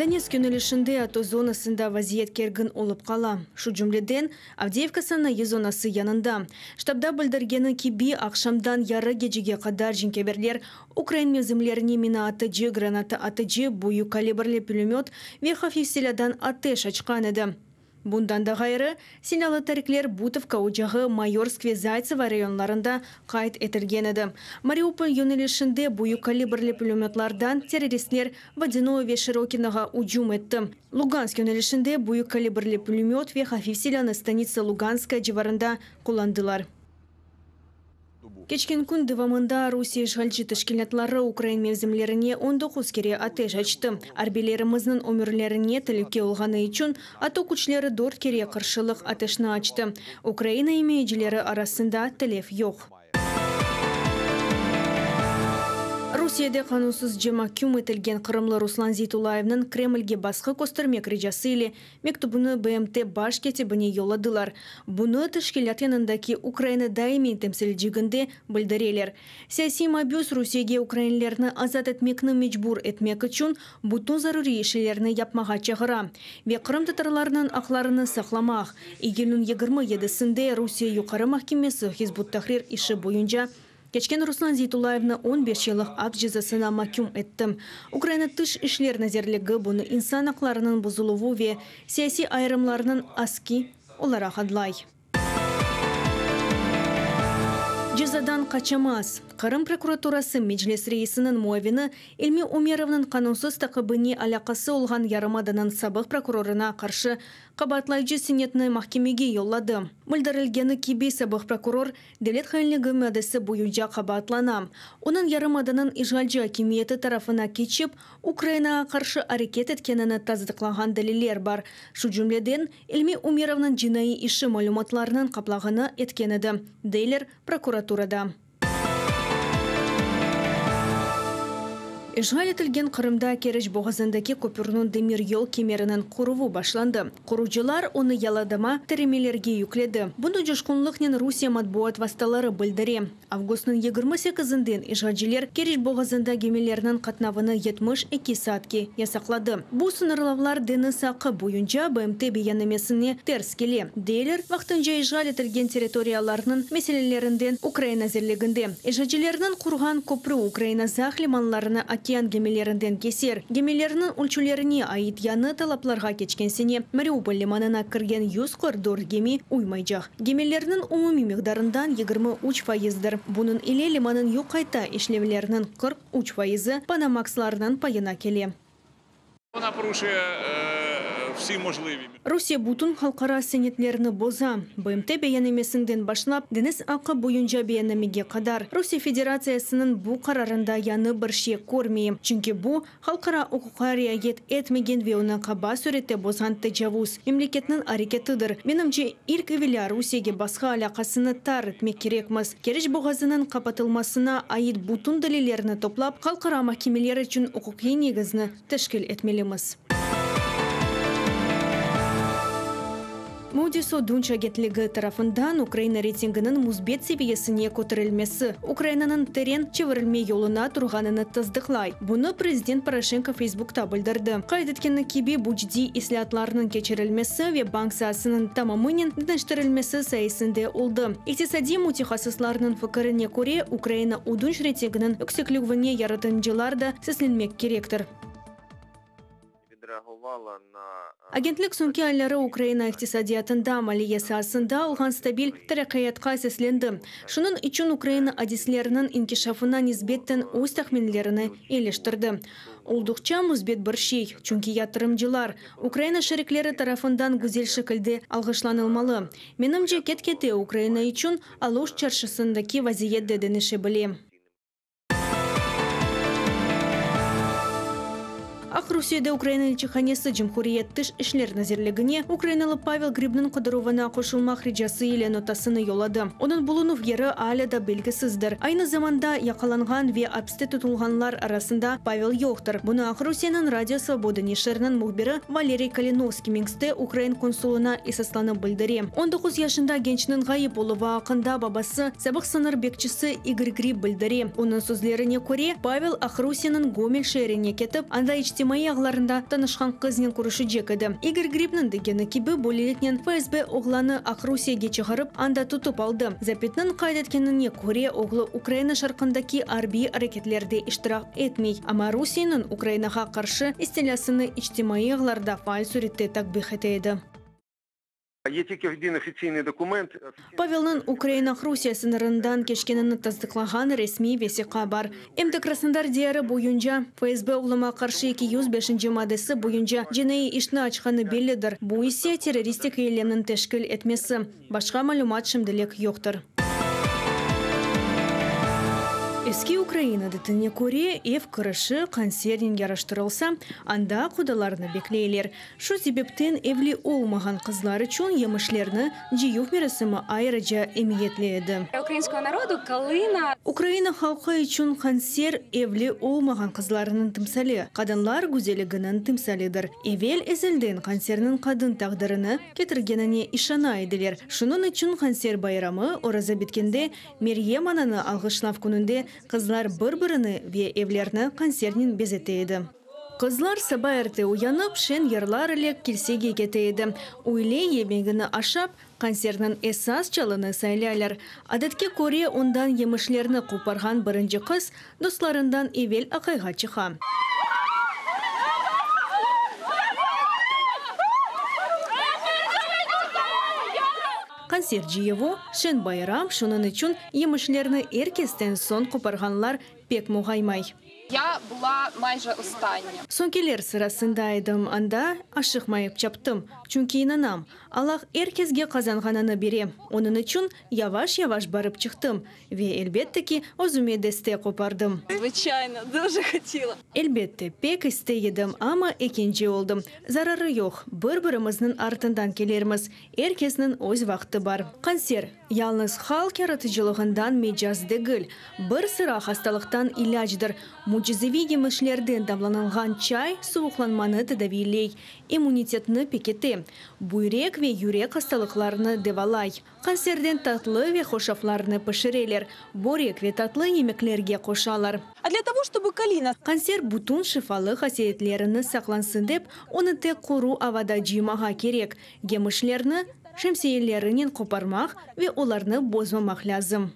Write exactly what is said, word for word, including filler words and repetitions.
Donetsk yönelişinde A T O zonasında vaziyet kergin olıp qala. Şu cümleden Avdeyevka sanayı zonası yanında. Ştabda bildirgeni kibi aqşamdan yarı gecege qadar cenkâverler ukrain mevzimlerine mina atıcı, granata atıcı, büyük kalibrli pülemöt ve hafif silâdan ateş açqan edi. Bundan da ğayrı, silâlı tarikler Butovka ocağı, Mayorsk ve Zaytsevo rayonlarında qayd etilgen edi. Mariupol yönelişinde büyük kalibrli pülemötlardan terroristler Vodяnoye ve Şirokinoğa ücüm etti. Lugansk yönelişinde büyük kalibrli pülemöt ve hafif silânı stanitsa Luganskaya civarında qullandılar. Keçken kün devamında Rusiye işğalci teşkilâtları ukrain mevzimlerine on doquz kere ateş açtı. Arbiylerimizniñ ömürlerine telüke olğanı içün A T O küçleri dört kere qarşılıq ateşni açtı. Ukraina imayecileri arasında telef yoq. Rusiyede qanunsızca mahküm etilgen qırımlı Ruslan Zeytullayevniñ Kremlge basqı köstermek ricası ile mektübini B M T baş kâtibine yolladılar. Bunı teşkilât yanındaki Ukraina daimiy temsilciginde bildireler. Siyasiy mabüs Rusiyege ukrainlerni azat etmekni mecbur etmek içün bütün zaruriy işlerni yapmağa çağıra ve qırımtatarlarnıñ aqlarını saqlamaq. İyülniñ yigirmi yedisinde Rusiye Yuqarı mahkemesi Hizb ut-Tahrir işi boyunca keçken Ruslan Zeytullayevni on beş yıllıq apis cezasına mahküm etti. Ukraina Tış işler nazirligi bunı insan aqlarınıñ bozuluvı ve siyasiy ayırımlarnıñ aski olaraq adlay. Cezadan qaçamaz. Qırım prokuraturası Meclis reisiniñ muavini İlmi Umerovnıñ qanunsız taqibine alâqası olğan yarımadanıñ sabıq prokurorına qarşı qabaatlayıcı senetni mahkemege yolladı. Bildirilgeni kibi, sabıq prokuror devlet hainligi maddesi boyunca qabaatlana. Onıñ yarımadanıñ işğalci akimiyeti tarafına keçip, Ukrainağa qarşı areket etkenini tasdıqlağan deliller bar. Şu cümleden, İlmi Umerovnıñ cinaiy işi malümatlarınıñ qaplağını etken edi, deyler prokuraturada. İşğal etilgen Qırımda Keriç boğazındaki köpürniñ demir yol kemeriniñ quruvı başlandı. Qurucılar onı yalıdama tiremelerge yükledi. Bunı coşqunlıqnen Rusiye matbuat vastaları bildire. Avgustnıñ yigirmi sekizinden işğalciler Keriç boğazında gemilerniñ qatnavını yetmiş eki saatke yasaqladı. Bu sıñırlavlar deñiz aqqı boyunca B M T beyannamesine ters kele, deyler vaqtınca işğal etilgen territoriyalarnıñ meselelerinden Ukraina nazirliginde. İşğalcilerniñ qurğan köprü Ukraina Zaq limanlarını okean gemilerinden keser. Gemilerniñ ölçülerine ait yañı talaplarğa keçken sene Mariupol limanına kirgen yüz qırq dört gemi uymaycaq. Gemilerniñ umumiy miqdarından yigirmi üç faizdir. Bunıñ ile limanıñ yoq qayta işlevleriniñ qırq üç faizi Panamaxlarnıñ payına kele. Вона порушує всі можливі. Rusiye bütün halqara senetlerini boza. B M T beyannamesinden başlap, deñiz aqqı boyunca beyannamege qadar. Rusiye Federatsiyasınıñ bu qararında yañı bir şey körmeyim. Çünki bu, halqara uquqqa riayet etmegen ve onı qaba sürette bozğan tecavuz, memleketniñ areketidir. Menimce, ilk evelâ Rusiyege basqı alâqasını tar etmek kerekmiz. Keriç boğazınıñ qapatılmasına ait bütün delillerni toplap, halqara mahkemeler içün uquqiy negizni teşkil etmelimiz. Moody's ödünç agentligi tarafından Ukraina reytinginiñ müsbet seviyesine köterilmesi Ukrainanıñ teren çevirilme yoluna turğanını tasdıqlay. Bunı prezident Poroşenko Facebookta bildirdi. Qayd etkeni kibi, bu ciddiy islâatlarnıñ keçirilmesi ve bank saasınıñ tamamınen deñiştirilmesi sayesinde oldı. İqtisadiy mütehassıslarnıñ fikirine köre, Ukraina ödünç reytinginiñ yüksekligine yaratıcılar da seslenmek kerektir. Agentlik soñki ayları Ukraina iqtisadiyatında maliye saasında olğan stabil teraqqiyatqa seslendi. Şunıñ içün Ukraina adisleriniñ inkişafına nisbeten öz tahminlerini eleştirdi. Olduqça müsbet bir şey, çünki yatırımcılar Ukraina şerikleri tarafından güzel şekilde alğışlanılmalı. Menimce, ket-kete Ukraina içün alış çarşısındaki vaziyet de deñişe bile. Aqrusiyede Ukraina elçihanesi Cumhuriyet Tış işler nazirligine Ukrainalı Pavel Gribniñ qıdıruvına qoşulmaq ricası ile notasını yolladı. Onıñ bulunuv yeri alâ da belgisizdir. Aynı zamanda yaqalanğan ve apiste tutulğanlar arasında Pavel yoqtır. Bunı Aqrusiyeniñ Radio Svoboda neşiriniñ mühbiri Valeriy Kalinovskiy Minskte ukrain konsulına esaslanıp bildire. on doquz yaşında gençniñ ğayıp oluvı aqqında babası, sabıq sıñır bekçisi İgor Grib bildire. Onıñ sözlerine köre, Pavel Aqrusiyeniñ Gomel şeerine ketip, anda içtimaiy içtimaiy ağlarında tanışqan qıznen körüşecek edi. İgor Gribniñ degeni kibi, böyleliknen F S B oğlannı Aqrusiyege çıqarıp, anda tutıp aldı. Zabitniñ qayd etkenine köre, oğlu Ukraina şarqındaki arbiy areketlerde iştirak etmey, amma Rusiyeniñ Ukrainağa qarşı istilâsını içtimaiy ağlarda faal sürette takbih ete edi. Є тільки один офіційний документ. Pavelniñ Ukraina-Rusiye sıñırından keçkenini tasdıqlağan resmiy vesiqa bar. Em de Krasnodar diyarı boyunca F S B oğluma qarşı eki yüz beşinci maddesi boyunca cinaiy işni açqanı bellidir. Bu ise terroristik eylemniñ teşkil etmesi. Başqa malümat şimdilik yoqtır. Eski Ukraina adetine köre, ev kirişi qansernen yaraştırılsa, anda qudalarnı bekleyler. Şu sebepten evli olmağan qızlar içün yemişlerni cıyuv merasimi ayrıca emiyetli edi. Українського народу калина. Ukraina halqı içün qanser evli olmağan qızlarnıñ timsali, qadınlar güzelliginiñ timsalidir. Evel ezelden qanserniñ qadın taqdirini ketirgenine işana ediler. Şunıñ içün qanser bayramı oraza bitkende Meryem ananı alğışlav kününde qızlar bir-birini ve evlerni qansernen bezete edi. Qızlar saba erte uyanıp, şeñ yırlar ile kilsege kete edi. Üyle yemegini aşap, qanserniñ esas çalını saylaylar. Adetke köre, ondan yemişlerni qoparğan birinci qız dostlarından evel aqayğa çıqa. Qanser cıyuvı, şeñ bayram, şunıñ içün yemişlerni er kesten soñ qoparğanlar pek muğaymay. Я була майже остання. Soñkiler sırasında edim anda, aşıqmayıp çaptım. Çünki inanam, Allah er kesge qazanğanını bere. Onıñ içün yavaş-yavaş barıp çıqtım. Ve, elbette ki, özüme deste qopardım. Звичайно, дуже хотіла. Elbette, pek istey edim, amma ekinci oldım. Zararı yoq, bir-birimizniñ artından kelirmiz. Er kesniñ öz vaqtı bar. Qanser, yalıñız halq yaratıcılığından mecaz degil, bir sıra hastalıqtan ilâcdır. Mücizeviy yemişlerden damlanılğan çay suvuqlanmanı tedaviyley, immunitetni pekite, büyrek ve yürek hastalıqlarını devalay. Qanserden tatlı ve hoşaflarnı pişireler, börek ve tatlı yemeklerge qoşalar. А для того, чтобы калина Qanser bütün şifalı hasiyetlerini saqlasın dep, onı tek quru avada cıymağa kerek. Yemişlerni şemsiyelerinen qoparmaq ve olarnı bozmamaq lâzim.